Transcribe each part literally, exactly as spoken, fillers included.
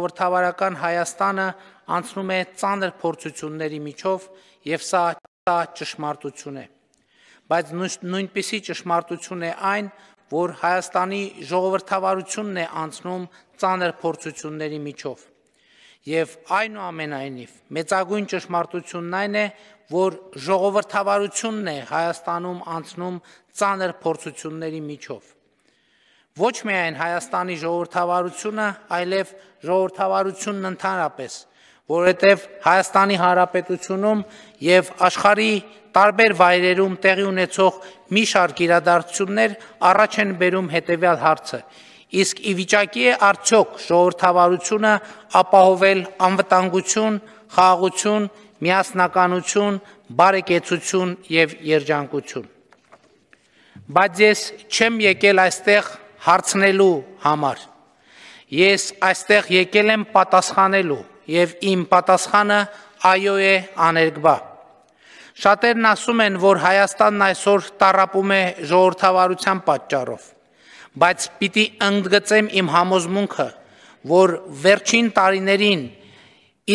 ժողովրդավարական Հայաստանը անցնում է ծանր փորձությունների միջով եւ սա ճշմարտություն է, բայց նույնպիսի ճշմարտություն է այն, որ Հայաստանի ժողովրդավարությունն է անցնում ծանր փորձությունների միջով եւ այնուամենայնիվ մեծագույն ճշմարտությունն այն է, որ ժողովրդավարությունն է Հայաստանում անցնում ծանր փորձությունների միջով ոչ միայն Հայաստանի ժողովրդավարությունը, այլև ժողովրդավարությունն ընդհանրապես, որովհետև Հայաստանի Հանրապետությունում եւ աշխարհի տարբեր վայրերում տեղի ունեցող մի շարք իրադարձություններ առաջ են բերում հետեւյալ հարցը. իսկ ի վիճակի է արդյոք ժողովրդավարությունը ապահովել անվտանգություն, խաղաղություն, միասնականություն, բարեկեցություն եւ երջանկություն։ Բայց ես չեմ եկել այստեղ հարցնելու համար։ Ես այստեղ եկել եմ պատասխանելու եւ իմ պատասխանը այո է աներկբա։ Շատերն ասում են, որ Հայաստանն այսօր տառապում է ժողովրդավարության պատճառով, բայց պիտի ընդգծեմ իմ համոզմունքը, որ վերջին տարիներին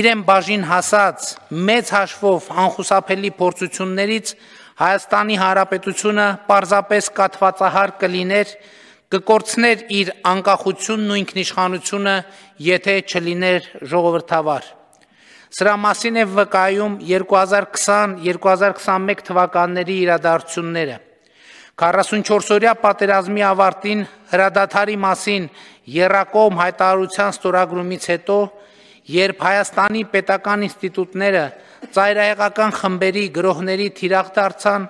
իրեն բաժին հասած մեծ հաշվով անխուսափելի փորձություններից Հայաստանի Հանրապետությունը պարզապես կաթվածահար կլիներ, կկորցներ իր անկախությունն ու ինքնիշխանությունը, եթե չլիներ ժողովրդավար։ Սրա մասին է վկայում երկու հազար քսան երկու հազար քսանմեկ թվականների իրադարձությունները։ քառասունչորսօրյա պատերազմի ավարտին հրադադարի մասին եռակողմ հայտարարության ստորագրումից հետո, երբ Հայաստանի պետական ինստիտուտները ծայրահեղական խմբերի գրոհների թիրախ դարձան,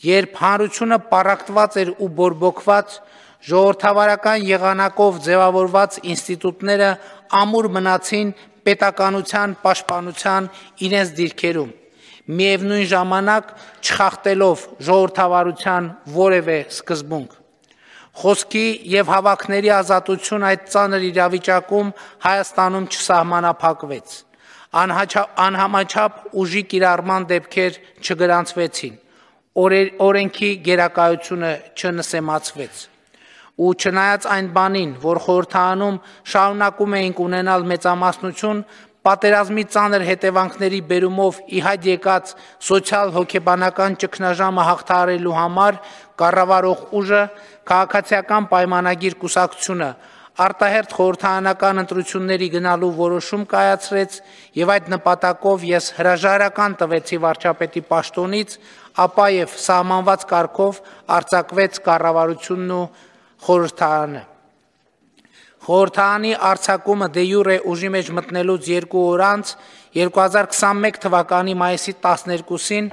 երբ հանրությունը պառակտված էր ու բորբոքված, ժողովրդավարական եղանակով ձևավորված ինստիտուտները ամուր մնացին պետականության պաշտպանության իրենց դիրքերում, միևնույն ժամանակ չխախտելով ժողովրդավարության որևէ սկզբունք։ Խոսքի եւ հավաքների ազատություն այդ ծանր իրավիճակում Հայաստանում չսահմանափակվեց, անհամաչափ ուժի կիրառման դեպքեր չգրանցվեցին, օրենքի գերակայությունը չնսեմացվեց։ Ու չնայած այն բանին, որ խորհրդարանում շարունակում էինք ունենալ մեծամասնություն, պատերազմի ծանր հետևանքների բերումով ի հայտ եկած սոցիալ-հոգեբանական ճգնաժամը հաղթահարելու համար կառավարող ուժը, քաղաքացիական պայմանագիր կուսակցությունը արտահերթ խորհրդարանական ընտրությունների գնալու որոշում կայացրեց եւ այդ նպատակով ես հրաժարական տվեցի վարչապետի պաշտոնից, ապա եւ սահմանված կարգով արձակվեց կառավարությունն ու խորհրդարանը։ Խորհրդարանի արձակումը դե յուրե ուժի մեջ մտնելուց երկու օր անց երկու հազար քսանմեկ թվականի մայիսի տասներկուսին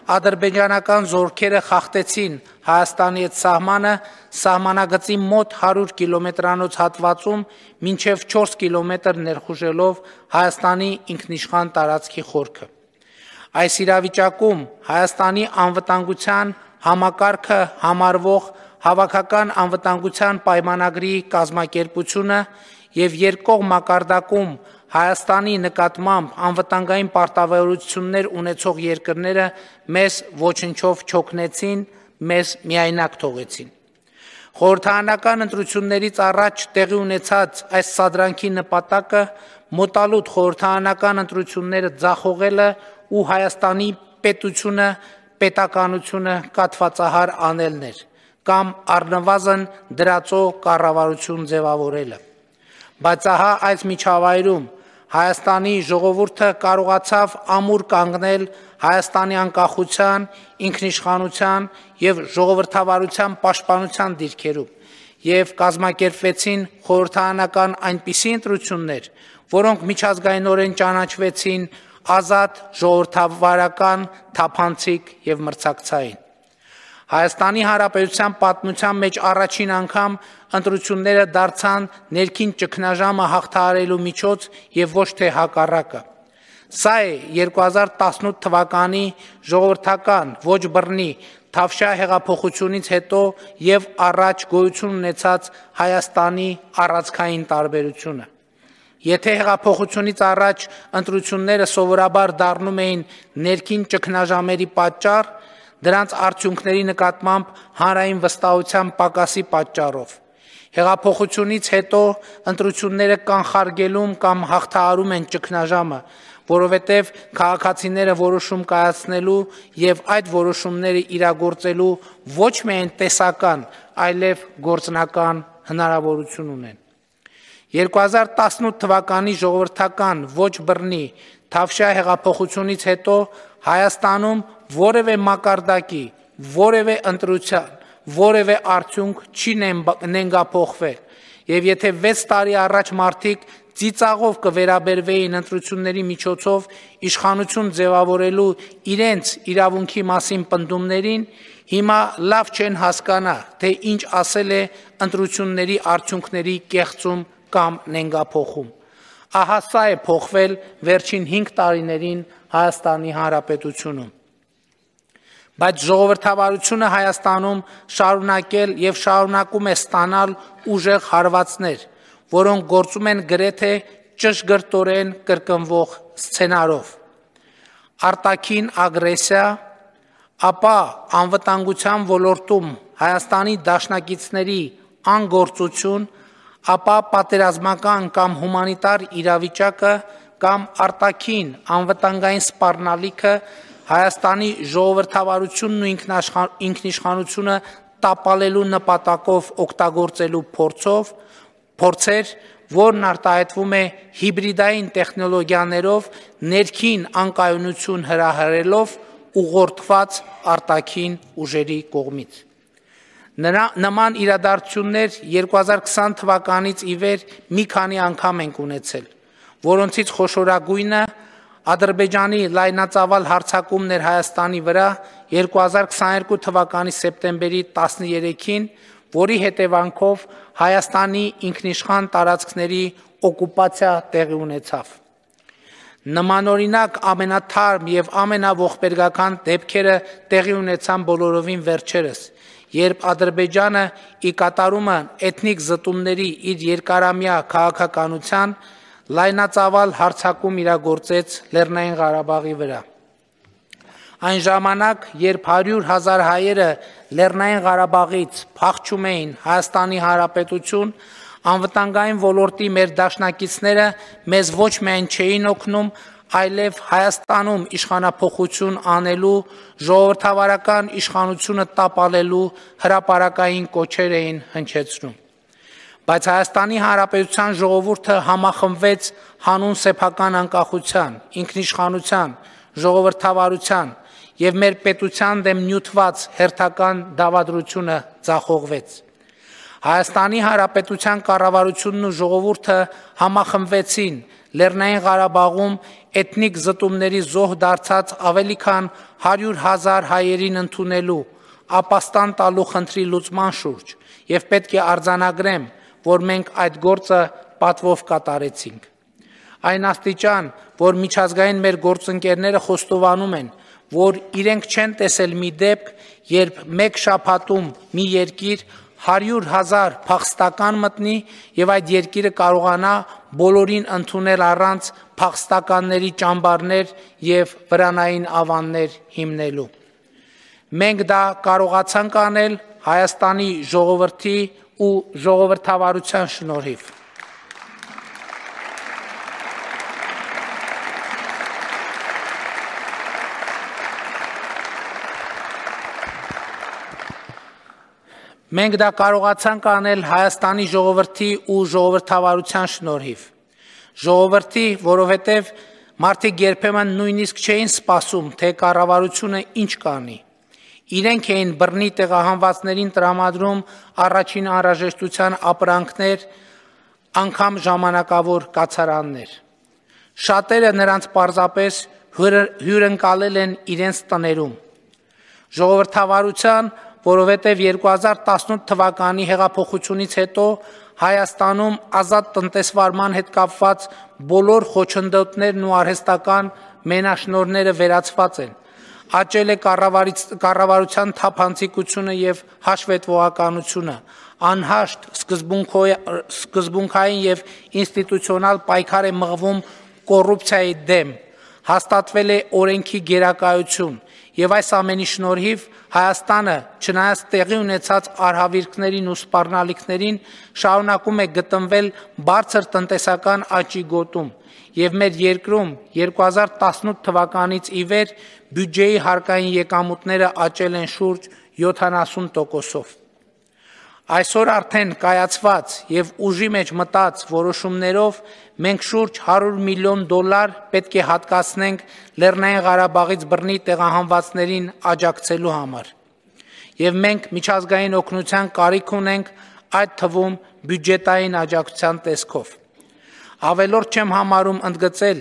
ադրբեջանական զորքերը խախտեցին Հայաստանի հետ սահմանը սահմանագծի մոտ հարյուր կիլոմետրանոց հատվածում մինչև չորս կիլոմետր ներխուժելով Հայաստանի ինքնիշխան տարածքի խորքը։ Այս իրավիճակում Հայաստանի անվտանգության համակարգը համարվող Հավաքական անվտանգության պայմանագրի կազմակերպությունը եւ երկկողմ մակարդակում Հայաստանի նկատմամբ անվտանգային պարտավորություններ ունեցող երկրները մեզ ոչնչով չօգնեցին, մեզ միայնակ թողեցին։ Խորհրդարանական ընտրություններից առաջ տեղի ունեցած այս սադրանքի նպատակը մոտալուտ խորհրդարանական ընտրությունները ձախողելը ու Հայաստանի պետությունը, պետականությունը կաթվածահար անելն էր կամ առնվազն դրածո կառավարություն ձևավորելը։ Բայց ահա այս միջավայրում Հայաստանի ժողովուրդը կարողացավ ամուր կանգնել Հայաստանի անկախության, ինքնիշխանության եւ ժողովրդավարության պաշտպանության դիրքերում եւ կազմակերպվեցին խորհրդարանական այնպիսի ընտրություններ, որոնք միջազգայինորեն ճանաչվեցին ազատ, ժողովրդավարական, թափանցիկ եւ մրցակցային։ Հայաստանի Հանրապետության պատմության մեջ առաջին անգամ ընտրությունները դարձան ներքին ճգնաժամը հաղթահարելու միջոց եւ ոչ թե հակառակը։ Սա է երկու հազար տասնութ թվականի ժողովրդական ոչ բռնի Թավշյա հեղափոխությունից հետո եւ առաջ գոյություն ունեցած Հայաստանի առանցքային տարբերությունը։ Եթե հեղափոխությունից առաջ ընտրությունները սովորաբար դառնում էին ներքին ճգնաժամերի պատճառ, դրանց արդյունքների նկատմամբ հանրային վստահության պակասի պատճառով, Հեղափոխությունից հետո ընտրությունները կանխարգելում կամ հաղթահարում են ճգնաժամը, որովհետև քաղաքացիները որոշում կայացնելու եւ այդ որոշումները իրագործելու ոչ միայն տեսական, այլև գործնական հնարավորություն ունեն։ երկու հազար տասնութ թվականի ժողովրդական ոչ բռնի Թավշյա հեղափոխությունից հետո Հայաստանում որևէ մակարդակի, որևէ ընտրության, որևէ արդյունք չի նենգափոխվել, եւ եթե վեց տարի առաջ մարդիկ ծիծաղով կվերաբերվեին ընտրությունների միջոցով իշխանություն ձևավորելու իրենց իրավունքի մասին պնդումներին, հիմա լավ չեն հասկանա, թե ինչ ասել է ընտրությունների արդյունքների կեղծում կամ նենգափոխում։ Ահա սա է փոխվել վերջին հինգ տարիներին Հայաստանի Հանրապետությունում։ Բայց ժողովրդավարությունը Հայաստանում շարունակել եւ շարունակում է ստանալ ուժեղ հարվածներ, որոնք գործում են գրեթե ճշգրտորեն կրկնվող սցենարով։ Արտաքին ագրեսիա, ապա անվտանգության ոլորտում Հայաստանի դաշնակիցների անգործություն, ապա պատերազմական կամ հումանիտար իրավիճակը կամ արտաքին անվտանգային սպառնալիքը Հայաստանի ժողովրդավարությունն ու ինքնիշխանությունը տապալելու նպատակով օգտագործելու փորձով, փորձեր, որն արտահայտվում է հիբրիդային տեխնոլոգիաներով ներքին անկայունություն հրահրելով ուղղորդված արտաքին ուժերի կողմից։ Նման իրադարձություններ երկու հազար քսան թվականից ի վեր մի քանի անգամ ենք ունեցել, որոնցից խոշորագույնը Ադրբեջանի լայնածավալ հարձակումն էր Հայաստանի վրա երկու հազար քսաներկու թվականի սեպտեմբերի տասներեքին, որի հետևանքով Հայաստանի ինքնիշխան տարածքների օկուպացիա տեղի ունեցավ։ Նմանօրինակ ամենաթարմ եւ ամենաողբերգական դեպքերը տեղի ունեցան բոլորովին վերջերս, երբ Ադրբեջանը ի կատարումը էթնիկ զտումների իր երկարամյա քաղաքականության լայնածավալ հարձակում իրագործեց Լեռնային Ղարաբաղի վրա։ Այն ժամանակ, երբ հարյուր հազար հայերը Լեռնային Ղարաբաղից փախչում էին Հայաստանի Հանրապետություն, անվտանգային ոլորտի մեր դաշնակիցները մեզ ոչ միայն չէին օգնում, այլև Հայաստանում իշխանափոխություն անելու, ժողովրդավարական իշխանությունը տապալելու հրապարակային կոչեր էին հնչեցնում։ Բայց Հայաստանի Հանրապետության ժողովուրդը համախմբվեց հանուն սեփական անկախության, ինքնիշխանության, ժողովրդավարության եւ մեր պետության դեմ նյութված հերթական դավադրությունը ձախողվեց։ Հայաստանի Հանրապետության կառավարությունն ու ժողովուրդը համախմբվեցին Լեռնային Ղարաբաղում էթնիկ զտումների զոհ դարձած ավելի քան հարյուր հազար հայերին ընդունելու, ապաստան տալու խնդրի լուծման շուրջ եւ պետք է արձանագրեմ, որ մենք այդ գործը պատվով կատարեցինք։ Այն աստիճան, որ միջազգային մեր գործընկերները խոստովանում են, որ իրենք չեն տեսել մի դեպք, երբ մեկ շաբաթում մի երկիր հարյուր հազար փախստական մտնի եւ այդ երկիրը կարողանա բոլորին ընդունել առանց փախստականների ճամբարներ եւ վրանային ավաններ հիմնելու։ Մենք դա կարողացանք անել Հայաստանի ժողովրդի ու ժողովրդավարության շնորհիվ։ Մենք դա կարողացանք անել Հայաստանի ժողովրդի ու ժողովրդավարության շնորհիվ։ Ժողովրդի, որովհետև մարդիկ երբեմն նույնիսկ չէին սպասում, թե կառավարությունը ինչ կանի։ Իրենք էին բռնի տեղահանվածներին տրամադրում առաջին անհրաժեշտության ապրանքներ, անգամ ժամանակավոր կացարաններ։ Շատերը նրանց պարզապես հյուրընկալել են իրենց տներում։ Ժողովրդավարության, որովհետև երկու հազար տասնութ թվականի հեղափոխությունից հետո Հայաստանում ազատ տնտեսվարման հետ կապված բոլոր խոչընդոտներն ու արհեստական մենաշնորհները վերացված են։ Աճել է կառավարության թափանցիկությունը եւ հաշվետվողականությունը, անհաշտ սկզբունքային եւ ինստիտուցիոնալ պայքար է մղվում կոռուպցիայի դեմ, հաստատվել է օրենքի գերակայություն, եւ այս ամենի շնորհիվ Հայաստանը, չնայած տեղի ունեցած արհավիրքներին ու սպառնալիքներին, շարունակում է գտնվել բարձր տնտեսական աճի գոտում, եւ մեր երկրում երկու հազար տասնութ թվականից ի վեր բյուջեի հարկային եկամուտները աճել են շուրջ յոթանասուն տոկոսով։ Այսօր արդեն կայացված եւ ուժի մեջ մտած որոշումներով մենք շուրջ հարյուր միլիոն դոլար պետք է հատկացնենք Լեռնային Ղարաբաղից բռնի տեղահանվածներին աջակցելու համար։ Եվ մենք միջազգային օգնության կարիք ունենք, այդ թվում բյուջետային աջակցության տեսքով։ Ավելորդ չեմ համարում ընդգծել,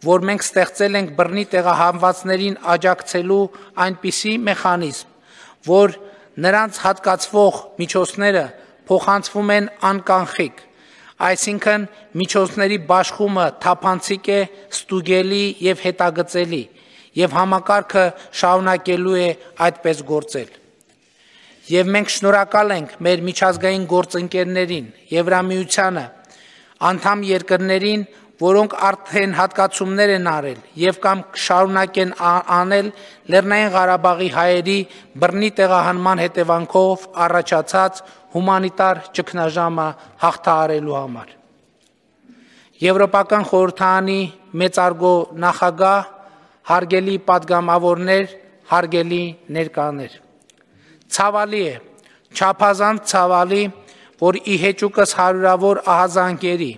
որ մենք ստեղծել ենք բռնի տեղահանվածներին աջակցելու այնպիսի մեխանիզմ, որ նրանց հատկացվող միջոցները փոխանցվում են անկանխիկ, այսինքն միջոցների բաշխումը թափանցիկ է, ստուգելի եւ հետագծելի, եւ համակարգը շարունակելու է այդպես գործել։ Եվ մենք շնորհակալ ենք մեր միջազգային գործընկերներին, Եվրամիությանը, անդամ երկրներին, որոնք արդեն հատկացումներ են արել եւ կամ շարունակեն անել Լեռնային Ղարաբաղի հայերի բռնի տեղահանման հետևանքով առաջացած հումանիտար ճգնաժամը հաղթահարելու համար։ Եվրոպական խորհրդարանի մեծարգո նախագահ, հարգելի պատգամավորներ, հարգելի ներկաներ։ Ցավալի է, չափազանց ցավալի, որ ի հեճուկս հարյուրավոր ահազանգերի,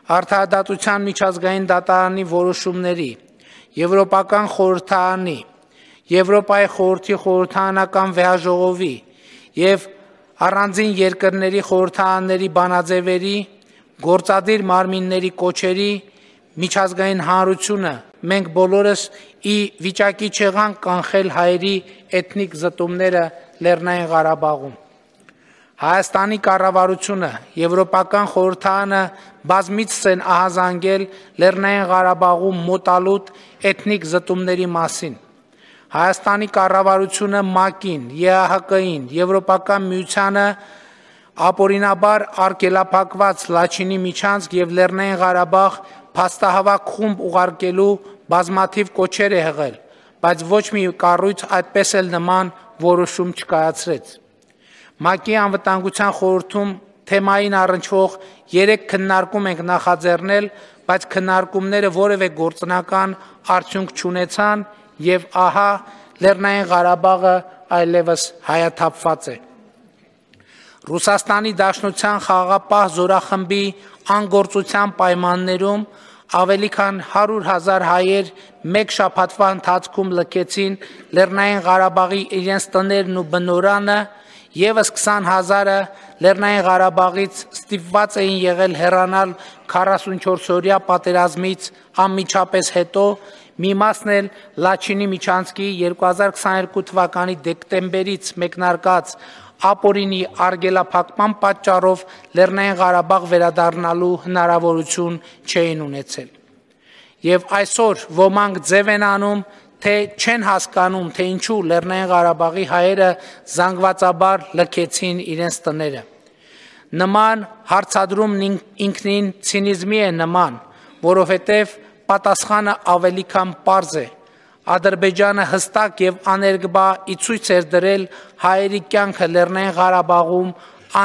Արդարադատության միջազգային դատարանի որոշումների, Եվրոպական խորհրդարանի, Եվրոպայի խորհրդի խորհրդարանական վեհաժողովի եւ առանձին երկրների խորհրդարանների բանաձևերի, գործադիր մարմինների կոչերի միջազգային հանրությունը մենք բոլորս ի վիճակի չեղանք կանխել հայերի էթնիկ զտումները Լեռնային Ղարաբաղում։ Հայաստանի կառավարությունը, Եվրոպական խորհրդարանը բազմիցս են ահազանգել Լեռնային Ղարաբաղում մոտալուտ էթնիկ զտումների մասին։ Հայաստանի կառավարությունը ՄԱԿ-ին, ԵԱՀԿ-ին, Եվրոպական միությանը ապօրինաբար արգելափակված Լաչինի միջանցք եւ Լեռնային Ղարաբաղ փաստահավաք խումբ ուղարկելու բազմաթիվ կոչեր է հղել, բայց ոչ մի կառույց այդպես էլ նման որոշում չկայացրեց։ ՄԱԿ-ի անվտանգության խորհրդում թեմային առնչվող երեք քննարկում ենք նախաձեռնել, բայց քննարկումները որևէ գործնական արդյունք չունեցան եւ ահա Լեռնային Ղարաբաղը այլևս հայաթափված է։ Ռուսաստանի Դաշնության խաղաղապահ զորախմբի անգործության պայմաններում ավելի քան հարյուր հազար հայեր մեկ շաբաթվա ընթացքում լքեցին Լեռնային Ղարաբաղի իրենց տներն ու բնօրանը, Եվս քսան հազարը Լեռնային Ղարաբաղից ստիպված էին եղել հեռանալ քառասունչորսօրյա պատերազմից անմիջապես հետո, մի մասն էլ Լաչինի միջանցքի երկու հազար քսաներկու թվականի դեկտեմբերից մեկնարկած ապօրինի արգելափակման պատճառով Լեռնային Ղարաբաղ վերադառնալու հնարավորություն չէին ունեցել։ Եվ այսօր ոմանք ձև են անում, թե չեն հասկանում, թե ինչու Լեռնային Ղարաբաղի հայերը զանգվածաբար լքեցին իրենց տները։ Նման հարցադրումն ինքնին ցինիզմի է նման, որովհետև պատասխանը ավելի քան պարզ է։ Ադրբեջանը հստակ եւ աներկբա ի ցույց էր դրել հայերի կյանքը Լեռնային Ղարաբաղում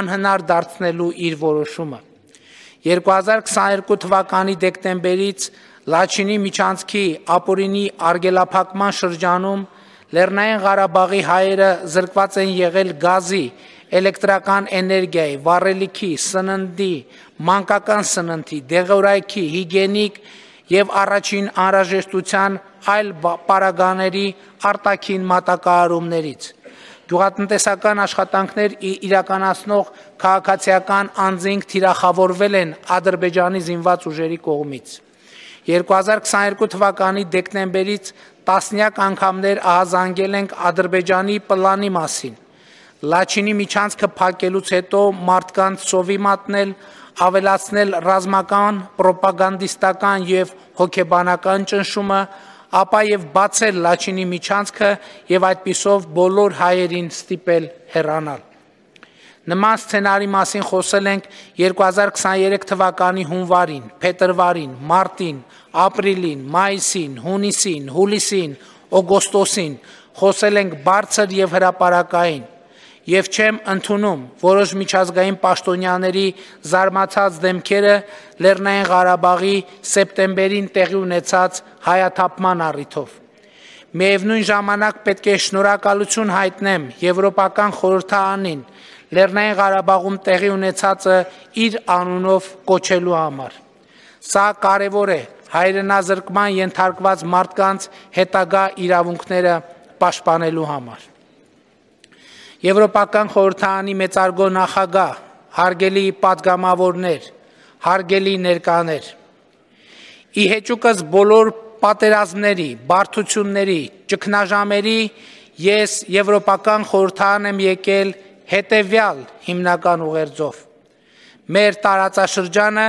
անհնար դարձնելու իր որոշումը։ երկու հազար քսաներկու թվականի դեկտեմբերից Լաչինի միջանցքի ապօրինի արգելափակման շրջանում Լեռնային Ղարաբաղի հայերը զրկված են եղել գազի, էլեկտրական էներգիայի, վառելիքի, սննդի, մանկական սննդի, դեղորայքի, հիգիենիկ եւ առաջին անհրաժեշտության այլ պարագաների արտաքին մատակարարումներից։ Գյուղատնտեսական աշխատանքներ իրականացնող քաղաքացիական անձինք թիրախավորվել են Ադրբեջանի զինված ուժերի կողմից։ երկու հազար քսաներկու թվականի դեկտեմբերից տասնյակ անգամներ ահազանգել ենք Ադրբեջանի պլանի մասին։ Լաչինի միջանցքը փակելուց հետո մարդկանց սովի մատնել, ավելացնել ռազմական, պրոպագանդիստական եւ հոգեբանական ճնշումը, ապա եւ բացել Լաչինի միջանցքը եւ այդպիսով բոլոր հայերին ստիպել հեռանալ։ Նման սցենարի մասին խոսել ենք երկու հազար քսաներեք թվականի հունվարին, փետրվարին, մարտին, ապրիլին, մայիսին, հունիսին, հուլիսին, օգոստոսին, խոսել ենք բարձր եւ հրապարակային, եւ չեմ ընդունում որոշ միջազգային պաշտոնյաների զարմացած դեմքերը Լեռնային Ղարաբաղի սեպտեմբերին տեղի ունեցած հայաթափման առիթով։ Միևնույն ժամանակ պետք է շնորհակալություն հայտնեմ Եվրոպական խորհրդարանին Լեռնային Ղարաբաղում տեղի ունեցածը իր անունով կոչելու համար։ Սա կարևոր է հայրենազրկման ենթարկված մարդկանց հետագա իրավունքները պաշտպանելու համար։ Եվրոպական խորհրդարանի մեծարգո նախագահ, հարգելի պատգամավորներ, հարգելի ներկաներ, ի հեճուկս բոլոր պատերազմների, բարդությունների, ճգնաժամերի ես Եվրոպական խորհրդարան եմ եկել հետևյալ հիմնական ուղերձով։ Մեր տարածաշրջանը,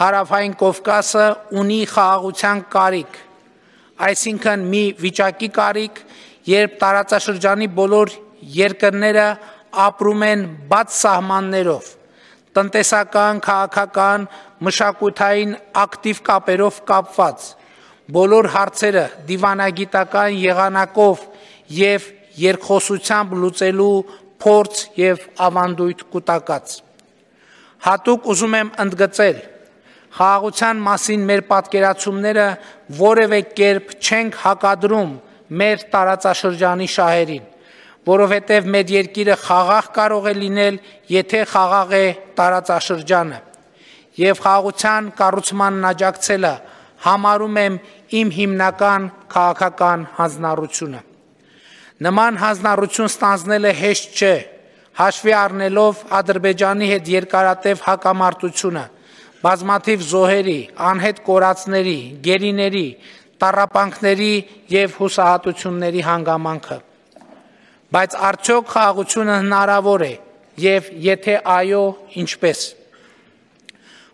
Հարավային Կովկասը ունի խաղաղության կարիք, այսինքն մի վիճակի կարիք, երբ տարածաշրջանի բոլոր երկրները ապրում են բաց սահմաններով, տնտեսական, քաղաքական, մշակութային ակտիվ կապերով կապված, բոլոր հարցերը դիվանագիտական եղանակով եւ երկխոսությամբ լուծելու փորձ եւ ավանդույթ կուտակած։ Հատուկ ուզում եմ ընդգծել, խաղաղության մասին մեր պատկերացումները որևէ կերպ չենք հակադրում մեր տարածաշրջանի շահերին, որովհետև մեր երկիրը խաղաղ կարող է լինել, եթե խաղաղ է տարածաշրջանը, եւ խաղաղության կառուցմանն աջակցելը համարում եմ իմ հիմնական քաղաքական հանձնառությունը։ Նման հանձնառություն ստանձնելը հեշտ չէ, հաշվի առնելով Ադրբեջանի հետ երկարատև հակամարտությունը, բազմաթիվ զոհերի, անհետ կորածների, գերիների, տառապանքների եւ հուսահատությունների հանգամանքը։ Բայց արդյոք խաղաղությունը հնարավոր է եւ եթե այո, ինչպես։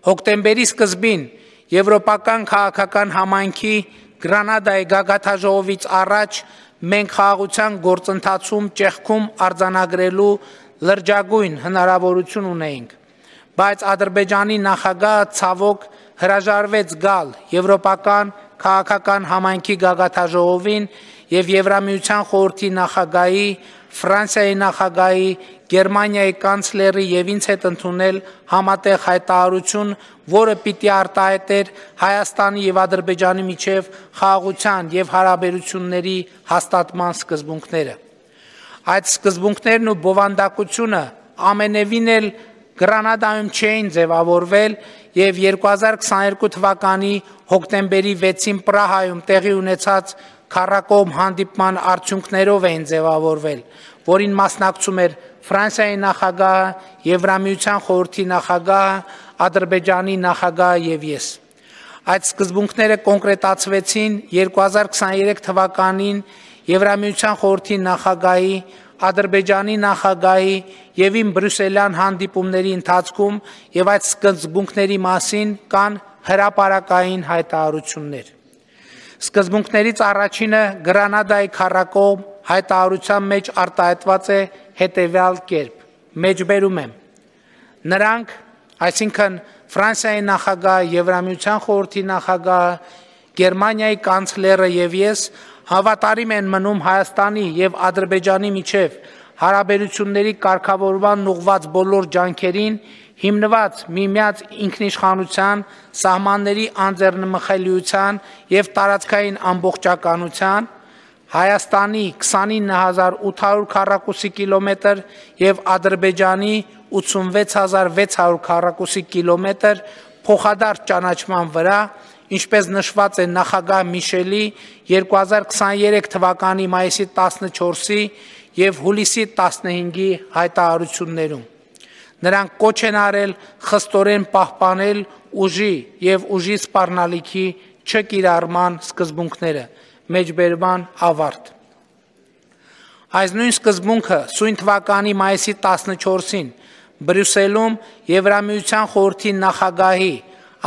Հոկտեմբերի սկզբին Եվրոպական քաղաքական համայնքի Գրանադայի գագաթաժողովից առաջ մենք խաղաղության գործընթացում ճեղքում արձանագրելու լրջագույն հնարավորություն ունեինք, բայց Ադրբեջանի նախագահը ցավոք հրաժարվեց գալ Եվրոպական քաղաքական համայնքի գագաթաժողովին եւ Եվրամիության խորհրդի նախագահի, Ֆրանսիայի նախագահի, Գերմանիայի կանցլերի եւ ինձ հետ ընդունել համատեղ հայտարարություն, որը պիտի արտահայտեր Հայաստանի եւ Ադրբեջանի միջև խաղաղության եւ հարաբերությունների հաստատման սկզբունքները։ Այդ սկզբունքներն ու բովանդակությունը ամենևին էլ Գրանադայում չէին ձևավորվել եւ երկու հազար քսաներկու թվականի հոկտեմբերի վեցին Պրահայում տեղի ունեցած քառակողմ հանդիպման արդյունքներով էին ձևավորվել, որին մասնակցում էր Ֆրանսիայի նախագահը, Եվրամիության խորհրդի նախագահը, Ադրբեջանի նախագահը եւ ես։ Այդ սկզբունքները կոնկրետացվեցին երկու հազար քսաներեք թվականին Եվրամիության խորհրդի նախագահի, Ադրբեջանի նախագահի եւ իմ բրյուսելյան հանդիպումների ընթացքում եւ այդ սկզբունքների մասին կան հրապարակային հայտարարություններ։ Սկզբունքներից առաջինը Գրանադայի քառակողմ հայտարարության մեջ արտահայտված է հետևյալ կերպ. մեջբերում եմ. նրանք, այսինքն Ֆրանսիայի նախագահը, Եվրամիության խորհրդի նախագահը, Գերմանիայի կանցլերը եւ ես հավատարիմ են մնում Հայաստանի եւ Ադրբեջանի միջև հարաբերությունների կարգավորման ուղղված բոլոր ջանքերին, հիմնված միմյանց ինքնիշխանության, սահմանների անձեռնմխելիության եւ տարածքային ամբողջականության, Հայաստանի քսանինը հազար ութ հարյուր քառակուսի կիլոմետր եւ Ադրբեջանի ութսունվեց հազար վեց հարյուր քառակուսի կիլոմետր փոխադարձ ճանաչման վրա, ինչպես նշված է նախագահ Միշելի երկու հազար քսաներեք թվականի մայիսի տասնչորսի եւ հուլիսի տասնհինգի հայտարարություններում։ Նրանք կոչ են արել խստորեն պահպանել ուժի եւ ուժի սպառնալիքի չկիրառման սկզբունքները, մեջբերման ավարտ։ Այս նույն սկզբունքը սույն թվականի մայիսի տասնչորսին Բրյուսելում Եվրամիության խորհրդի նախագահի,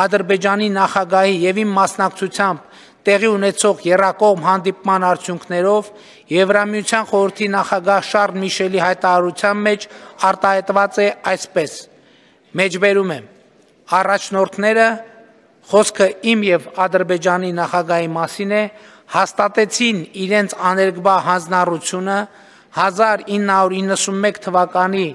Ադրբեջանի նախագահի եւ իմ մասնակցությամբ տեղի ունեցող եռակողմ հանդիպման արդյունքներով Եվրամիության խորհրդի նախագահ Շարլ Միշելի հայտարարության մեջ արտահայտված է այսպես. Մեջբերում եմ, առաջնորդները, խոսքը իմ եւ Ադրբեջանի նախագահի մասին է, հաստատեցին իրենց աներկբա հանձնառությունը հազար ինը հարյուր իննսունմեկ թվականի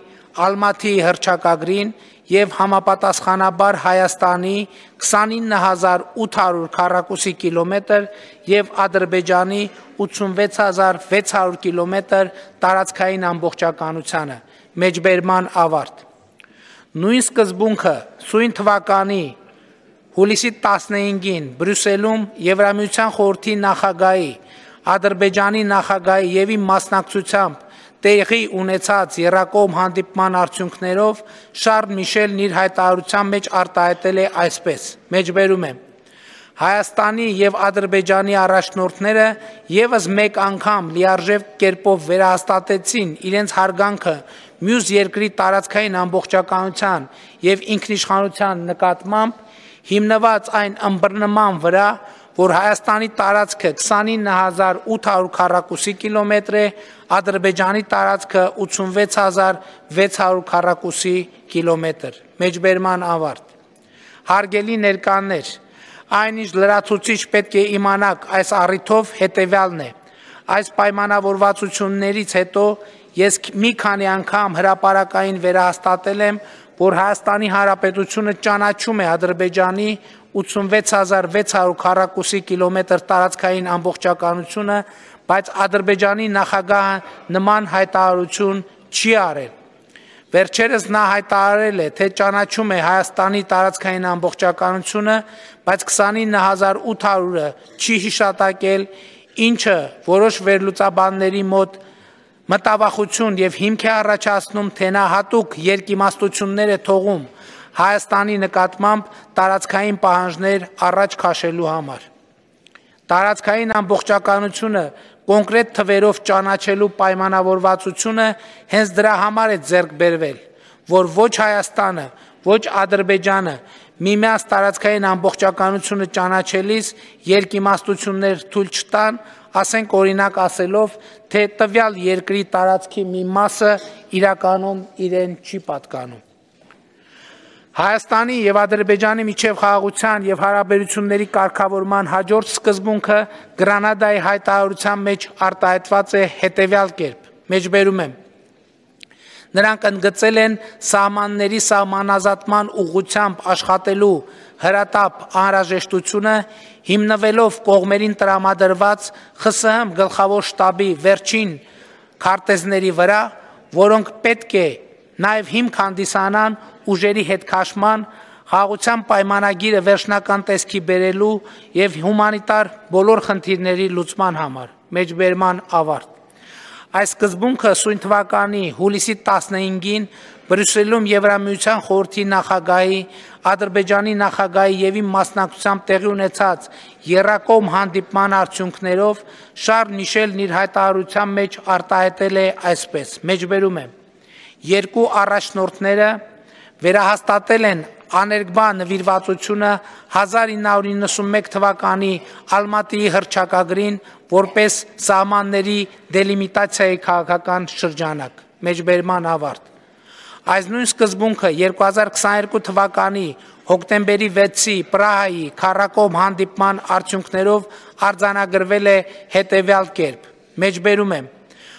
Ալմաթիի հռչակագրին եւ համապատասխանաբար Հայաստանի քսանինը հազար ութ հարյուր քառակուսի կիլոմետր եւ Ադրբեջանի ութսունվեց հազար վեց հարյուր կիլոմետր տարածքային ամբողջականությանը մեջբերման ավարտ նույն սկզբունքը սույն թվականի հուլիսի տասնհինգին Բրյուսելում Եվրամիության խորհրդի նախագահի Ադրբեջանի նախագահի եւ իմ մասնակցությամբ տեղի ունեցած եռակողմ հանդիպման արդյունքներով Շարլ Միշելն իր հայտարարության մեջ արտահայտել է այսպես. Մեջբերում եմ. Հայաստանի եւ Ադրբեջանի առաջնորդները եւս մեկ անգամ լիարժեք կերպով վերահաստատեցին իրենց հարգանքը մյուս երկրի տարածքային ամբողջականության եւ ինքնիշխանության նկատմամբ հիմնված այն ըմբռնման վրա, որ Հայաստանի տարածքը քսանինը հազար ութ հարյուր քառակուսի կիլոմետր է, Ադրբեջանի տարածքը ութսունվեց հազար վեց հարյուր քառակուսի կիլոմետր։ Մեջբերման ավարտ։ Հարգելի ներկաներ, այնինչ լրացուցիչ պետք է իմանաք այս առիթով հետևյալն է. այս պայմանավորվածություններից հետո ես մի քանի անգամ հրապարակային վերահաստատել եմ, որ Հայաստանի Հանրապետությունը ճանաչում է Ադրբեջանի ութսունվեց հազար վեց հարյուր քառակուսի կիլոմետր տարածքային ամբողջականությունը, բայց Ադրբեջանի նախագահը նման հայտարարություն չի արել։ Վերջերս նա հայտարարել է, թե ճանաչում է Հայաստանի տարածքային ամբողջականությունը, բայց քսանինը հազար ութ հարյուրը չի հիշատակել, ինչը որոշ վերլուծաբանների մոտ մտավախություն եւ հիմք է առաջացնում, թե նա հատուկ երկիմաստություններ է թողում Հայաստանի նկատմամբ տարածքային պահանջներ առաջ քաշելու համար։ Տարածքային ամբողջականությունը կոնկրետ թվերով ճանաչելու պայմանավորվածությունը հենց դրա համար է ձեռք բերվել, որ ոչ Հայաստանը, ոչ Ադրբեջանը միմյանց տարածքային ամբողջականությունը ճանաչելիս երկիմաստություններ թույլ չտան, ասենք օրինակ ասելով, թե տվյալ երկրի տարածքի մի մասը իրականում իրեն չի պատկանում։ Հայաստանի եւ Ադրբեջանի միջև խաղաղության եւ հարաբերությունների կարգավորման հաջորդ սկզբունքը Գրանադայի հայտարարության մեջ արտահայտված է հետևյալ կերպ. Մեջբերում եմ. Նրանք ընդգծել են սահմանների սահմանազատման ուղղությամբ աշխատելու հրատապ անհրաժեշտությունը, հիմնվելով կողմերին տրամադրված ԽՍՀՄ գլխավոր շտաբի վերջին քարտեզների վրա, որոնք պետք է նաև հիմք հանդիսանան ուժերի հետ քաշման, խաղաղության պայմանագիրը վերջնական տեսքի բերելու եւ հումանիտար բոլոր խնդիրների լուծման համար։ Մեջբերման ավարտ։ Այս սկզբունքը սույն թվականի հուլիսի տասնհինգին Բրյուսելում Եվրամիության խորհրդի նախագահի, Ադրբեջանի նախագահի եւ իմ մասնակցությամբ տեղի ունեցած եռակողմ հանդիպման արդյունքներով Շարլ Միշելն իր հայտարարության մեջ արտահայտել է այսպես. Մեջբերում եմ. Երկու առաջնորդները վերահաստատել են աներկբա նվիրվածությունը հազար ինը հարյուր իննսունմեկ թվականի Ալմատիի հռչակագրին որպես սահմանների դելիմիտացիայի քաղաքական շրջանակ։ Մեջբերման ավարտ։ Այս նույն սկզբունքը երկու հազար քսաներկու թվականի հոկտեմբերի վեցի Պրահայի քառակողմ հանդիպման արդյունքներով արձանագրվել է հետևյալ կերպ. Մեջբերում եմ.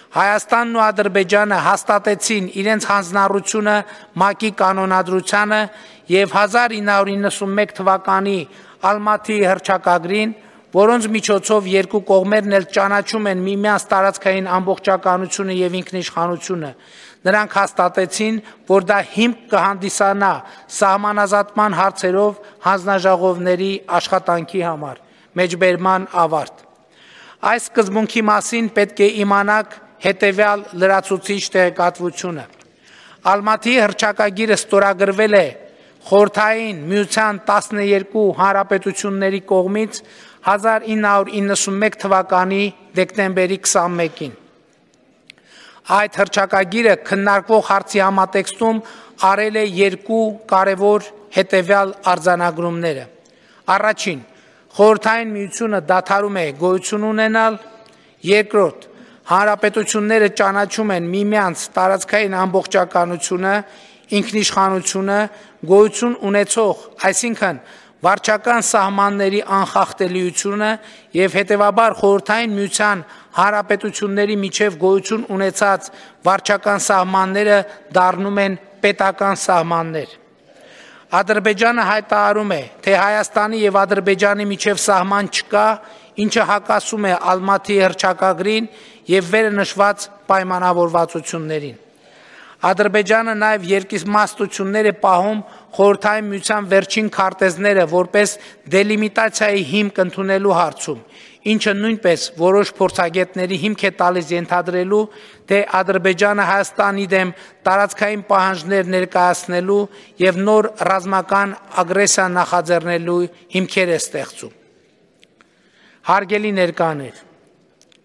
Հայաստանն ու Ադրբեջանը հաստատեցին իրենց հանձնառությունը ՄԱԿ-ի կանոնադրությանը եւ հազար ինը հարյուր իննսունմեկ թվականի Ալմաթիի հռչակագրին, որոնց միջոցով երկու կողմերն էլ ճանաչում են միմյանց տարածքային ամբողջականությունը եւ ինքնիշխանությունը։ Նրանք հաստատեցին, որ դա հիմք կհանդիսանա սահմանազատման հարցերով հանձնաժողովների աշխատանքի համար։ Մեջբերման ավարտ։ Այս սկզբունքի մասին պետք է իմանաք հետևյալ լրացուցիչ տեղեկատվությունը։ Ալմաթիի հռչակագիրը ստորագրվել է Խորհրդային Միության տասներկու հանրապետությունների կողմից հազար ինը հարյուր իննսունմեկ թվականի դեկտեմբերի քսանմեկին։ Այդ հռչակագիրը քննարկվող հարցի համատեքստում արել է երկու կարևոր հետևյալ արձանագրումները։ Առաջին, խորհրդային միությունը դադարում է գոյություն ունենալ, երկրորդ, հանրապետությունները ճանաչում են միմյանց տարածքային ամբողջականությունը, ինքնիշխանությունը, գոյություն ունեցող, այսինքն վարչական սահմանների անխախտելիությունը եւ հետեւաբար խորհրդային միության հանրապետությունների միջև գոյություն ունեցած վարչական սահմանները դառնում են պետական սահմաններ։ Ադրբեջանը հայտարարում է, թե Հայաստանի եւ Ադրբեջանի միջև սահման չկա, ինչը հակասում է Ալմատի հռչակագրին եւ վերը նշված պայմանավորվածություններին։ Ադրբեջանը նաև երկիմաստություններ է պահում խորհրդային միության վերջին քարտեզները որպես դելիմիտացիայի հիմք ընդունելու հարցում, ինչը նույնպես որոշ փորձագետների հիմք է տալիս ենթադրելու, թե Ադրբեջանը Հայաստանի դեմ տարածքային պահանջներ ներկայացնելու եւ նոր ռազմական ագրեսիա նախաձեռնելու հիմքեր է ստեղծում։ Հարգելի ներկաներ,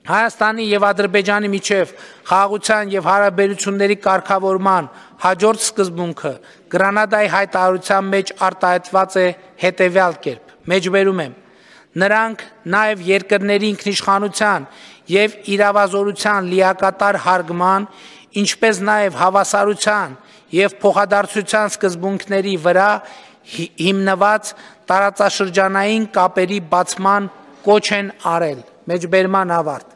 Հայաստանի եւ Ադրբեջանի միջև խաղաղության եւ հարաբերությունների կարգավորման հաջորդ սկզբունքը Գրանադայի հայտարարության մեջ արտահայտված է հետեւյալ կերպ. Մեջբերում եմ. նրանք նաեւ երկրների ինքնիշխանության եւ իրավազորության լիակատար հարգման, ինչպես նաեւ հավասարության եւ փոխադարձության սկզբունքների վրա հիմնված տարածաշրջանային կապերի բացման կոչ են արել։ Մեջբերման ավարտ։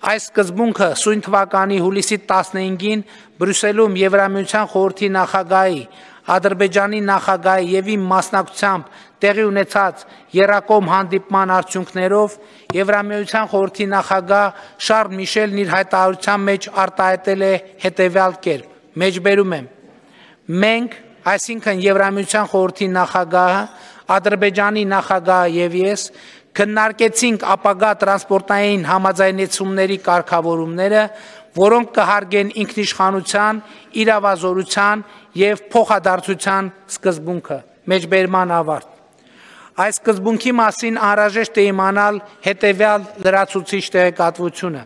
Այս սկզբունքը սույն թվականի հուլիսի տասնհինգին Բրյուսելում Եվրամիության խորհրդի նախագահի, Ադրբեջանի նախագահի եւ իմ մասնակցությամբ տեղի ունեցած եռակողմ հանդիպման արդյունքներով Եվրամիության խորհրդի նախագահ Շարլ Միշելն իր հայտարարության մեջ արտահայտել է հետեւյալ կերպ. Մեջբերում եմ. մենք, այսինքն Եվրամիության խորհրդի նախագահը, Ադրբեջանի նախագահը եւ ես քննարկեցինք ապագա տրանսպորտային համաձայնեցումների կարգավորումները, որոնք կհարգեն ինքնիշխանության, իրավազորության եւ փոխադարձության սկզբունքը։ Մեջբերման ավարտ։ Այս սկզբունքի մասին անհրաժեշտ է իմանալ հետեւյալ լրացուցիչ տեղեկատվությունը։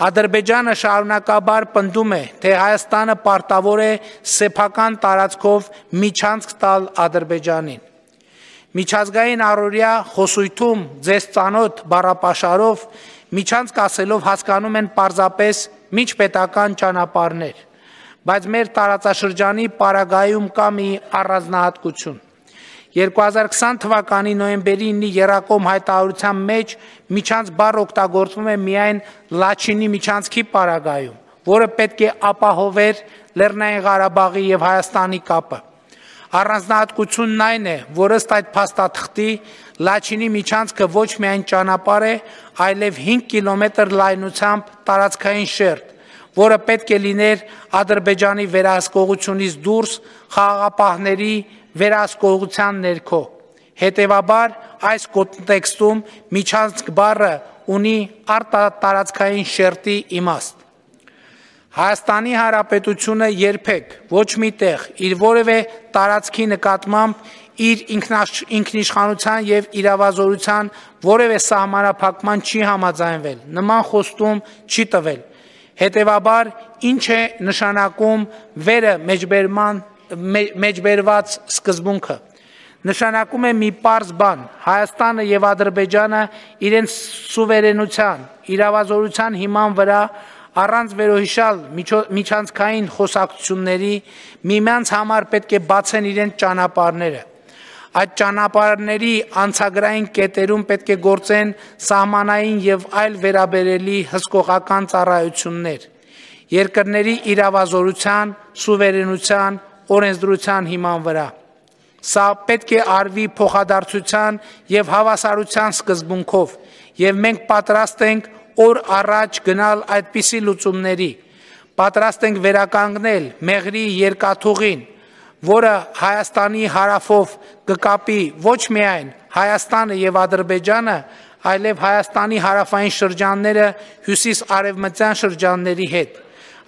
Ադրբեջանը շարունակաբար պնդում է, թե Հայաստանը պարտավոր է սեփական տարածքով միջանցք տալ Ադրբեջանին։ Միջազգային առօրյա խոսույթում ձեզ ծանոթ բառապաշարով միջանցք ասելով հասկանում են պարզապես միջպետական ճանապարհներ, բայց մեր տարածաշրջանի պարագայում կա մի առանձնահատկություն։ երկու հազար քսան թվականի նոյեմբերի ինի եռակողմ հայտարարության մեջ միջանց բառը օգտագործվում է միայն Լաչինի միջանցքի պարագայում, որը պետք է ապահովեր Լեռնային Ղարաբաղի եւ Հայաստանի կապը։ Առանձնահատկությունն այն է, որ ըստ այդ փաստաթղթի Լաչինի միջանցքը ոչ միայն ճանապարհ է, այլև հինգ կիլոմետր լայնությամբ տարածքային շերտ, որը պետք է լիներ Ադրբեջանի վերահսկողությունից դուրս խաղաղապահների վերահսկողության ներքո։ Հետևաբար այս կոնտեքստում միջանցք բառը ունի արտատարածքային շերտի իմաստ։ Հայաստանի Հանրապետությունը երբեք ոչ մի տեղ իր որևէ տարածքի նկատմամբ իր ինքնիշխանության եւ իրավազորության որևէ սահմանափակման չի համաձայնվել, նման խոստում չի տվել։ Հետևաբար ինչ է նշանակում վերը մեջբերման մեջբերված սկզբունքը։ Նշանակում է մի պարզ բան. Հայաստանը եւ Ադրբեջանը իրենց սուվերենության, իրավազորության հիման վրա առանց վերոհիշալ միջանցքային խոսակցությունների միմյանց համար պետք է բացեն իրենց ճանապարհները։ Այդ ճանապարհների անցագրային կետերում պետք է գործեն սահմանային եւ այլ վերաբերելի հսկողական ծառայություններ երկրների իրավազորության, սուվերենության, օրենսդրության հիման վրա։ Սա պետք է արվի փոխադարձության եւ հավասարության սկզբունքով, եւ մենք պատրաստ ենք օր առաջ գնալ այդպիսի լուծումների, պատրաստ ենք վերականգնել Մեղրի երկաթուղին, որը Հայաստանի հարավով կկապի ոչ միայն Հայաստանը եւ Ադրբեջանը, այլև Հայաստանի հարավային շրջանները հյուսիս-արևմտյան շրջանների հետ,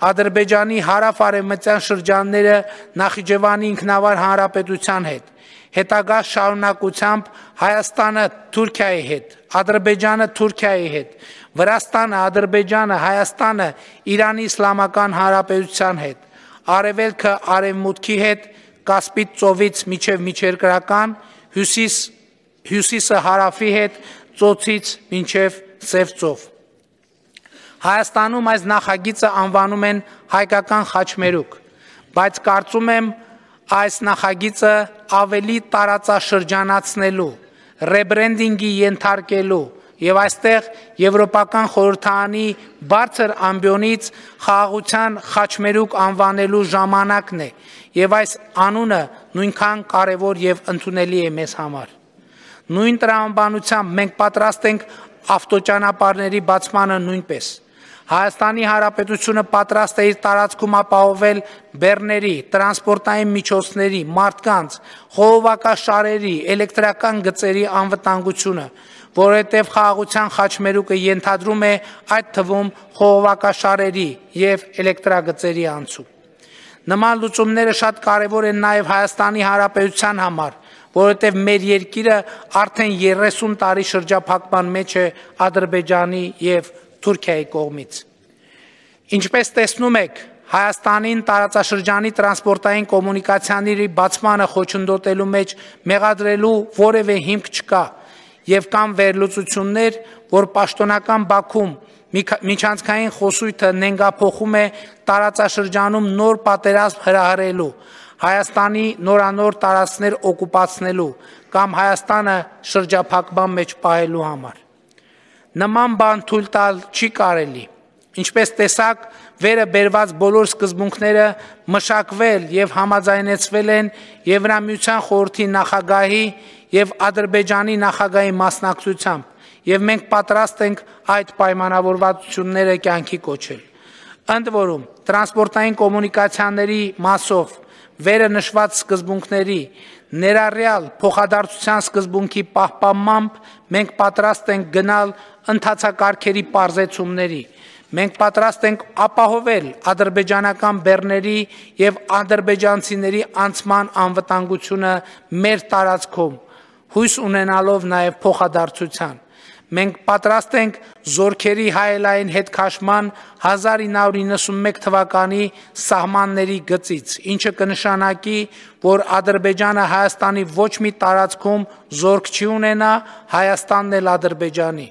Ադրբեջանի հարավ-արևմտյան շրջանները Նախիջևանի ինքնավար հանրապետության հետ, հետագա շարունակությամբ Հայաստանը Թուրքիայի հետ, Ադրբեջանը Թուրքիայի հետ, Վրաստանը, Ադրբեջանը, Հայաստանը Իրանի Իսլամական Հանրապետության հետ, Արևելքը Արևմուտքի հետ, Կասպից ծովից մինչև միջերկրական, հյուսիս, հյուսիսը հարավի հետ, ծոցից մինչև Սև ծով։ Հայաստանում այս նախագիծը անվանում են հայկական խաչմերուկ, բայց կարծում եմ այս նախագիծը ավելի տարածաշրջանացնելու, ռեբրենդինգի ենթարկելու եւ այստեղ Եվրոպական խորհրդարանի բարձր ամբիոնից խաղաղության խաչմերուկ անվանելու ժամանակն է եւ այս անունը նույնքան կարեւոր եւ ընդունելի է մեզ համար։ Նույն տրամաբանությամբ մենք պատրաստ ենք ավտոճանապարհների բացմանը նույնպես։ Հայաստանի Հանրապետությունը պատրաստ է իր տարածքում ապահովել բեռների, տրանսպորտային միջոցների, մարդկանց, խողովակաշարերի, էլեկտրական գծերի անվտանգությունը, որովհետև խաղաղության խաչմերուկը ենթադրում է այդ թվում խողովակաշարերի եւ էլեկտրագծերի անցում։ Նման լուծումները շատ կարևոր են նաեւ Հայաստանի Հանրապետության համար, որովհետև մեր երկիրը արդեն երեսուն տարի շրջափակման մեջ է Ադրբեջանի եւ Թուրքիայի կողմից։ Ինչպես տեսնում եք, Հայաստանին տարածաշրջանի տրանսպորտային կոմունիկացիաների բացմանը խոչընդոտելու մեջ մեղադրելու որևէ հիմք չկա եւ կան վերլուծություններ, որ պաշտոնական Բաքվում միջանցքային խոսույթը նենգափոխում է տարածաշրջանում նոր պատերազմ հրահրելու, Հայաստանի նորանոր տարածքներ օկուպացնելու կամ Հայաստանը շրջափակման մեջ պահելու համար։ Նման բան թույլ տալ չի կարելի։ Ինչպես տեսակ, վերը բերված բոլոր սկզբունքները մշակվել եւ համաձայնեցվել են Եվրամիության խորհրդի նախագահի եւ Ադրբեջանի նախագահի մասնակցությամբ, եւ մենք պատրաստ ենք այդ պայմանավորվածությունները կյանքի կոչել։ Ընդ որում, տրանսպորտային կոմունիկացիաների մասով վերը նշված սկզբունքների ներառյալ փոխադարձության սկզբունքի պահպանմամբ մենք պատրաստ ենք գնալ ընթացակարգերի պարզեցումների։ Մենք պատրաստ ենք ապահովել ադրբեջանական բեռների եւ ադրբեջանցիների անցման անվտանգությունը մեր տարածքում, հույս ունենալով նաեւ փոխադարձության։ Մենք պատրաստ ենք զորքերի հայելային հետ քաշման հազար ինը հարյուր իննսունմեկ թվականի սահմանների գծից, ինչը կնշանակի, որ Ադրբեջանը Հայաստանի ոչ մի տարածքում զորք չի ունենա, Հայաստանն էլ Ադրբեջանի։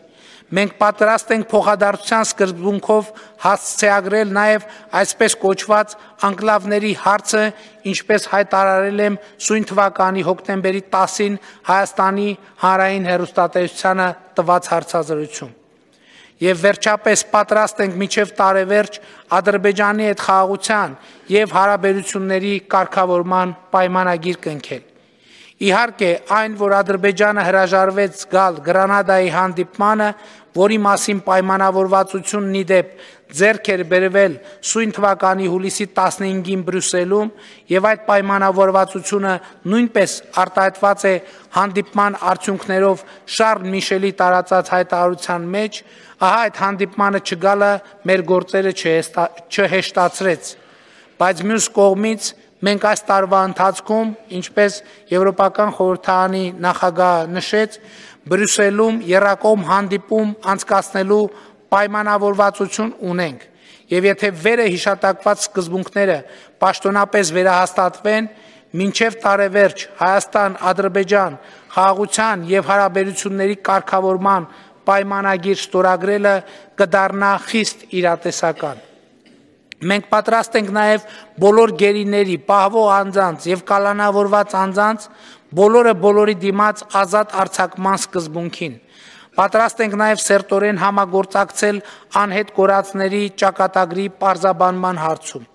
Մենք պատրաստ ենք փոխադարձության սկզբունքով հասցեագրել նաև այսպես կոչված անկլավների հարցը, ինչպես հայտարարել եմ սույն թվականի հոկտեմբերի տասին Հայաստանի հանրային հեռուստատեսությանը տված հարցազրույցում։ Եվ վերջապես պատրաստ ենք մինչև տարեվերջ Ադրբեջանի հետ խաղաղության եւ հարաբերությունների կարգավորման պայմանագիր կնքել։ Իհարկե, այն, որ Ադրբեջանը հրաժարվեց գալ Գրանադայի հանդիպմանը, որի մասին պայմանավորվածությունն ի դեպ ձեռք էր բերվել սույն թվականի հուլիսի տասնհինգին Բրյուսելում, եւ այդ պայմանավորվածությունը նույնպես արտահայտված է հանդիպման արդյունքներով Շարլ Միշելի տարածած հայտարարության մեջ, ահա այդ հանդիպմանը չգալը մեր գործերը չհեշտացրեց, բայց մյուս կողմից մենք այս տարվա ընթացքում, ինչպես Եվրոպական խորհրդարանի նախագահը նշեց, Բրյուսելում եռակողմ հանդիպում անցկացնելու պայմանավորվածություն ունենք, եւ եթե վերը հիշատակված սկզբունքները պաշտոնապես վերահաստատվեն, մինչև տարեվերջ Հայաստան-Ադրբեջան խաղաղության եւ հարաբերությունների կարգավորման պայմանագիր ստորագրելը կդառնա խիստ իրատեսական։ Մենք պատրաստ ենք նաև բոլոր գերիների, պահվող անձանց եւ կալանավորված անձանց բոլորը բոլորի դիմաց ազատ արձակման սկզբունքին։ Պատրաստ ենք նաև սերտորեն համագործակցել անհետ կորածների ճակատագրի պարզաբանման հարցում։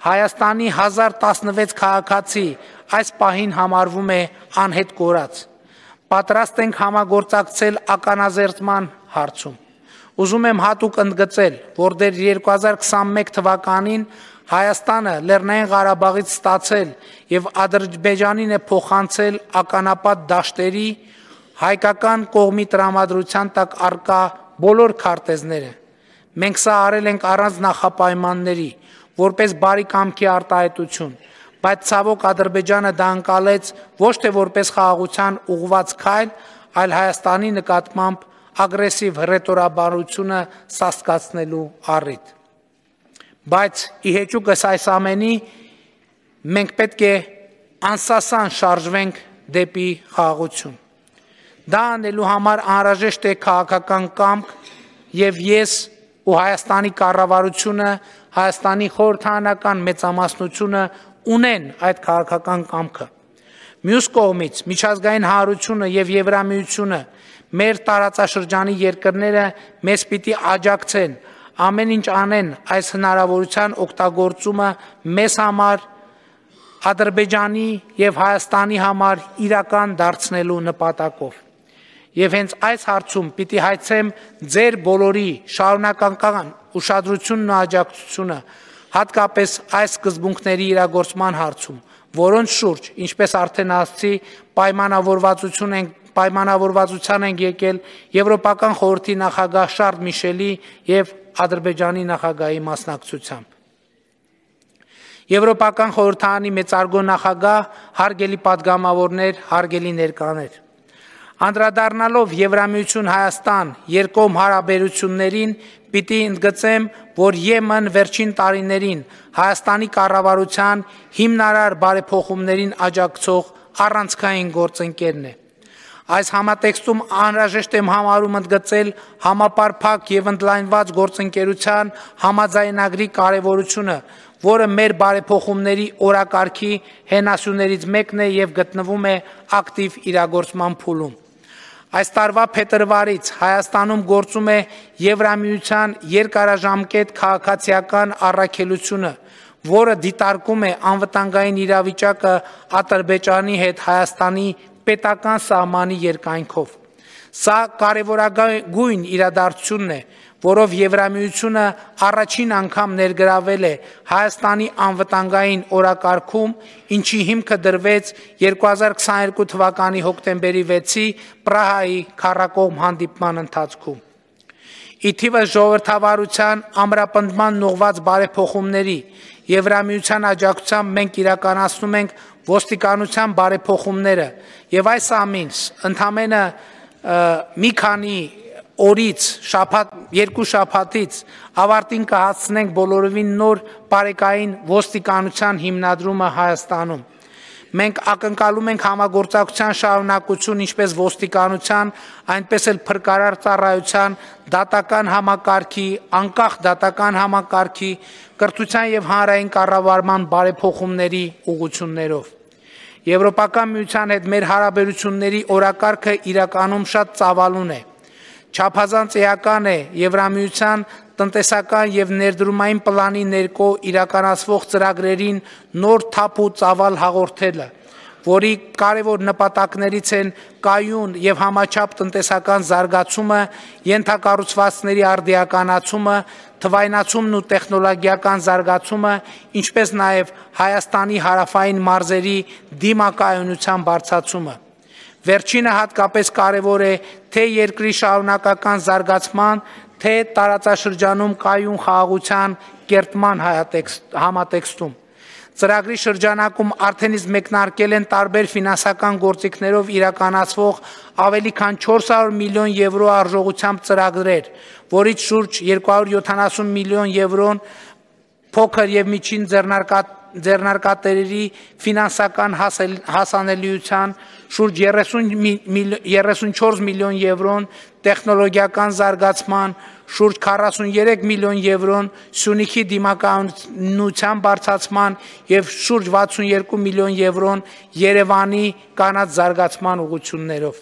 Հայաստանի հազար տասնվեց քաղաքացի այս պահին համարվում է անհետ կորած։ Պատրաստ ենք համագործակցել ականազերծման հարցում։ Ուզում եմ հատուկ ընդգծել, որ դեռ երկու հազար քսանմեկ թվականին Հայաստանը Լեռնային Ղարաբաղից ստացել եւ Ադրբեջանին է փոխանցել ականապատ դաշտերի հայկական կողմի տրամադրության տակ առկա բոլոր քարտեզները։ Մենք սա արել ենք առանց նախապայմանների, որպես բարի կամքի արտահայտություն, բայց ցավոք Ադրբեջանը դա անցալեց ոչ թե որպես խաղաղության ուղղված քայլ, այլ Հայաստանի նկատմամբ ագրեսիվ հռետորաբանությունը սաստկացնելու առիթ։ Բայց ի հեճուկս այս ամենի մենք պետք է անսասան շարժվենք դեպի խաղաղություն։ Դա անելու համար անհրաժեշտ է քաղաքական կամք եւ ես ու Հայաստանի կառավարությունը, Հայաստանի խորհրդարանական մեծամասնությունը ունեն այդ քաղաքական կամքը։ Մյուս կողմից միջազգային հանրությունը եւ Եվրամիությունը մեր տարածաշրջանի երկրները մեզ պիտի աջակցեն, ամեն ինչ անեն այս հնարավորության օգտագործումը մեզ համար, Ադրբեջանի եւ Հայաստանի համար իրական դարձնելու նպատակով։ Եվ հենց այս հարցում պիտի հայցեմ ձեր բոլորի շարունակական ուշադրությունն ու աջակցությունը, հատկապես այս սկզբունքների իրագործման հարցում, որոնց շուրջ, ինչպես արդեն ասացի, պայմանավորվածություն են պայմանավորվածության են եկել Եվրոպական խորհրդի նախագահ Շարլ Միշելի եւ Ադրբեջանի նախագահի մասնակցությամբ։ Եվրոպական խորհրդարանի մեծարգո նախագահ, հարգելի պատգամավորներ, հարգելի ներկաներ, անդրադառնալով Եվրամիություն Հայաստան երկկողմ հարաբերություններին, պիտի ընդգծեմ, որ ԵՄ-ն վերջին տարիներին Հայաստանի կառավարության հիմնարար բարեփոխումներին աջակցող առանցքային գործընկերն է։ Այս համատեքստում անհրաժեշտ եմ համարում ընդգծել համապարփակ եւ ընդլայնված գործընկերության համաձայնագրի կարեւորությունը, որը մեր բարեփոխումների օրակարգի հենասյուներից մեկն է եւ գտնվում է ակտիվ իրագործման փուլում։ Այս տարվա փետրվարից Հայաստանում գործում է Եվրամիության երկարաժամկետ քաղաքացիական առաքելությունը, որը դիտարկում է անվտանգային իրավիճակը Ադրբեջանի հետ Հայաստանի պետական սահմանի երկայնքով։ Սա կարևորագույն իրադարձությունն է, որով Եվրամիությունը առաջին անգամ ներգրավել է Հայաստանի անվտանգային օրակարգում, ինչի հիմքը դրվեց երկու հազար քսաներկու թվականի հոկտեմբերի վեցի Պրահայի քառակողմ հանդիպման ընթացքում։ Ի թիվս ժողովրդավարության ամրապնդման ուղղված բարեփոխումների Եվրամիության աջակցությամբ մենք իրականացնում ենք ոստիկանության բարեփոխումները եւ այս ամինս ընդամենը մի քանի օրից շաբաթ երկու շաբաթից ավարտին կհասցնենք բոլորովին նոր բարեկային ոստիկանության հիմնադրումը Հայաստանում։ Մենք ակնկալում ենք համագործակցության շարունակություն ինչպես ոստիկանության, այնպես էլ փրկարար ծառայության, դատական համակարգի, անկախ դատական համակարգի, կրթության եւ հանրային կառավարման բարեփոխումների ուղղություններով։ Եվրոպական միության հետ մեր հարաբերությունների օրակարգը իրականում շատ ծավալուն է։ Չափազանց էական է Եվրամիության տնտեսական եւ ներդրումային պլանի ներքո իրականացվող ծրագրերին նոր թափ ու ծավալ հաղորդելը, որի կարևոր նպատակներից են կայուն եւ համաչափ տնտեսական զարգացումը, ենթակառուցվածքների արդիականացումը, թվայնացումն ու տեխնոլոգիական զարգացումը, ինչպես նաեւ Հայաստանի հարավային մարզերի դիմակայունության բարձրացումը։ Վերջինը հատկապես կարևոր է թե երկրի շարունակական զարգացման, թե տարածաշրջանում կայուն խաղաղության կերտման համատեքստում։ Ծրագրի շրջանակում արդեն իսկ մեկնարկել են տարբեր ֆինանսական գործիքներով իրականացվող ավելի քան չորս հարյուր միլիոն եվրո արժողությամբ ծրագրեր, որից շուրջ երկու հարյուր յոթանասուն միլիոն եվրոն փոքր եւ միջին ձեռնարկատերերի ֆինանսական հասանելիության, շուրջ երեսունչորս միլիոն եվրոն տեխնոլոգիական զարգացման, շուրջ քառասուններեք միլիոն եվրոն Սյունիքի դիմակայունության բարձրացման եւ շուրջ վաթսունյոթ միլիոն եվրոն Երևանի կանաչ զարգացման ուղղություններով։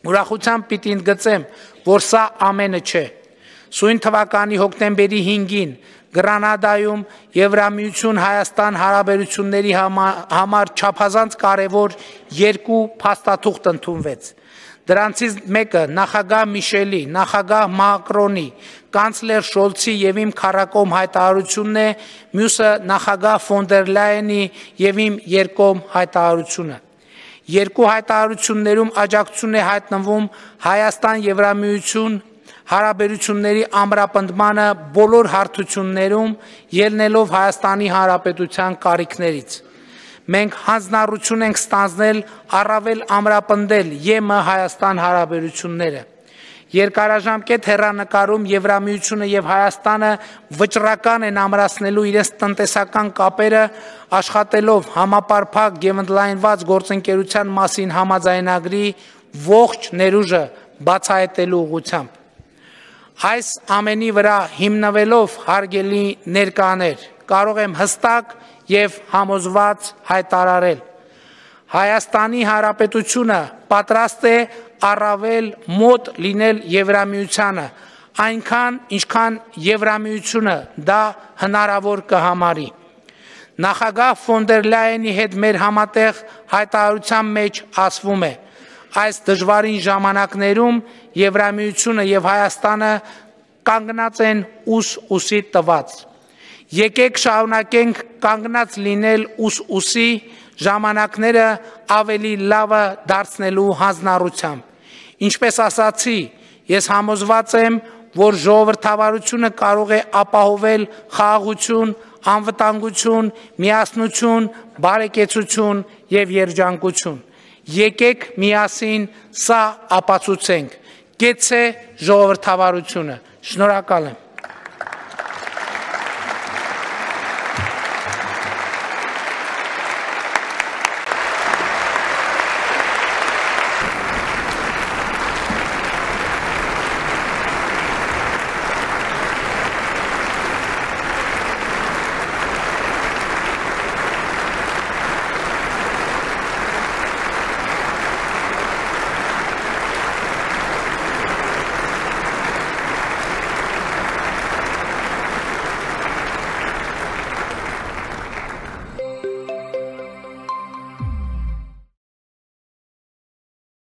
Ուրախությամբ պիտի ընդգծեմ, որ սա ամենը չէ։ Սույն թվականի հոկտեմբերի հինգին Գրանադայում Եվրամիություն Հայաստան հարաբերությունների համար չափազանց կարևոր երկու փաստաթուղթ ընդունվեց։ Դրանցից մեկը նախագահ Միշելի, նախագահ Մակրոնի, կանցլեր Շոլցի եւ իմ քառակողմ հայտարարությունն է, մյուսը նախագահ Ֆոն դեր Լայենի եւ իմ երկկողմ հայտարարությունը։ Երկու հայտարարություններում աջակցություն է հայտնվում Հայաստան-Եվրամիություն հարաբերությունների ամրապնդմանը բոլոր հարթություններում ելնելով Հայաստանի Հանրապետության կարիքներից։ մենք հանձնառություն ենք ստանձնել առավել ամրապնդել ԵՄ Հայաստան հարաբերությունները։ Երկարաժամկետ հեռանկարում Եվրամիությունը եւ Հայաստանը վճռական են ամրացնելու իրենց տնտեսական կապերը, աշխատելով համապարփակ եւ ընդլայնված գործընկերության մասին համաձայնագրի ողջ ներուժը բացահայտելու ուղղությամբ։ Այս ամենի վրա հիմնվելով, հարգելի ներկաներ, կարող եմ հստակ եւ համոզված հայտարարել. Հայաստանի Հանրապետությունը պատրաստ է առավել մոտ լինել Եվրամիությանը, այնքան, ինչքան Եվրամիությունը դա հնարավոր կհամարի։ Նախագահ ֆոն դեր Լայենի հետ մեր համատեղ հայտարարության մեջ ասվում է. այս դժվարին ժամանակներում Եվրամիությունը եւ Հայաստանը կանգնած են ուս ուսի տված։ Եկեք շարունակենք կանգնած լինել ուս ուսի ժամանակները ավելի լավը դարձնելու հանձնառությամբ։ Ինչպես ասացի, ես համոզված եմ, որ ժողովրդավարությունը կարող է ապահովել խաղաղություն, անվտանգություն, միասնություն, բարեկեցություն եւ երջանկություն։ Եկեք միասին սա ապացուցենք։ Գեցե ժողովրդավարությունը։ Շնորհակալ եմ։